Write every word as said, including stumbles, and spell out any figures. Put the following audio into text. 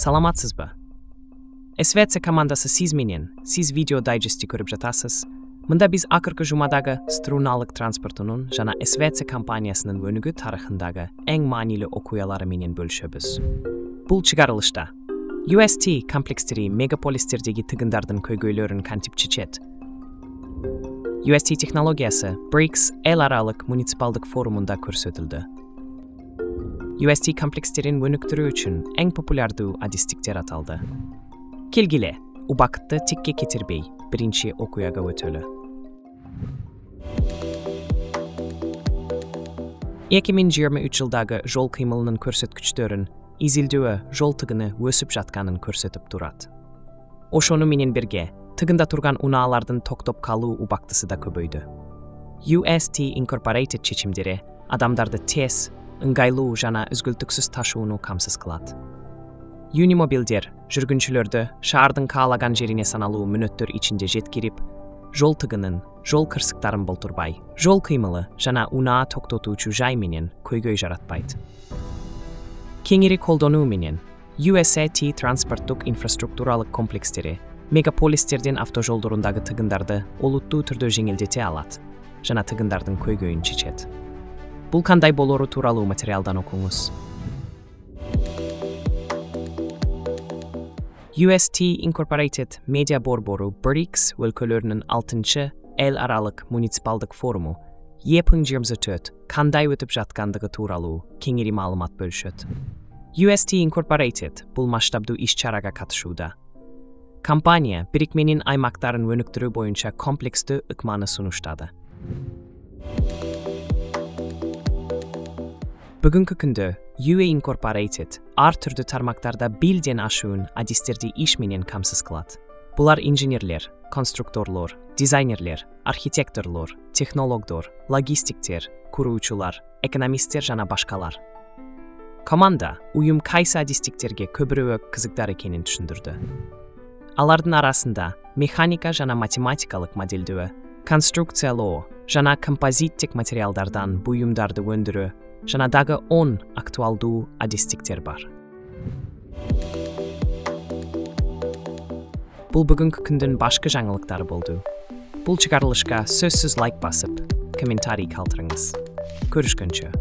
Саламатсызбы? эс ви си командасы сиз менен сиз видео дайджести көрүп жатасыз. Мында биз акыркы жумадагы струналык транспортунун жана эс ви си компаниясынын өнүгүү тарыхындагы эң маанилүү окуялары менен бөлүшөбүз. Бул чыгарылышта ю эс ти комплекстери мегаполистердеги тыгындардын көйгөйлөрүн кантип чечет? ю эс ти технологиясы брикс эл аралык муниципалдык форумунда көрсөтүлдү. ю эс ти комплекстерин өнүктүрүү үчүн эң популярдуу адистиктер аталды. Келгиле, убакытты тикке кетирбей, биринчи окуяга өтөлү. эки миң жыйырма үч жылдагы жол кыймылынын көрсөткүчтөрүн изилдөө жол тыгыны өсүп жатканын көрсөтүп турат. Ошону менен бирге, тыгында турган унаалардын токтоп калуу убактысы да көбөйдү. ю эс ти Incorporated чечимдери адамдарды тез, ыңгайлуу жана үзгүлтүксүз ташууну камсыз кылат. Юнимобилдер жүргүнчүлөрдү шаардын каалаган жерине саналуу мүнөттөр ичинде жеткирип, жол тыгынын, жол кырсыктарын болтурбай, жол кыймылы жана унаа токтотуучу жай менен көйгөй жаратпайт. Кеңири колдонуу менен ю эс ти транспорттук инфраструктуралык комплекстери мегаполистердин автожолдорундагы тыгындарды олуттуу түрдө жеңилдете алат жана тыгындардын көйгөйүн чечет. Бул кандай болору тууралуу материалдан окуңуз. ю эс ти Incorporated Media борбору брикс өлкөлөрүнүн алтынчы эл аралык муниципалдык форуму эки миң жыйырма төрт кандай өтүп жаткандыгы тууралуу кеңири маалымат бөлүшөт. ю эс ти Incorporated бул масштабдуу иш-чарага катышууда. Компания бирикменин аймактарын өнүктүрүү боюнча комплекстүү ыкманы сунуштады. Бүгүнкү күндө ю эс Incorporated ар түрдүү тармактарда билден ашуун адистерди иш менен камсыз кылат. Булар инженерлер, конструкторлор, дизайнерлер, архитекторлор, технологдор, логистиктер, куруучулар, экономисттер жана башкалар. Команда уюм кайсы адистиктерге көбүрөөк кызыктар экенин түшүндүрдү. Алардын арасында механика жана математикалык моделдөө, конструкциялоо жана композиттик материалдардан буюмдарды өндүрүү жана дагы он актуалдуу адистиктер бар. Бул бүгүнкү күндүн башкы жаңылыктары болду. Бул чыгарылышка сөзсүз лайк басып, комментарий калтырыңыз. Көрүшкөнчө.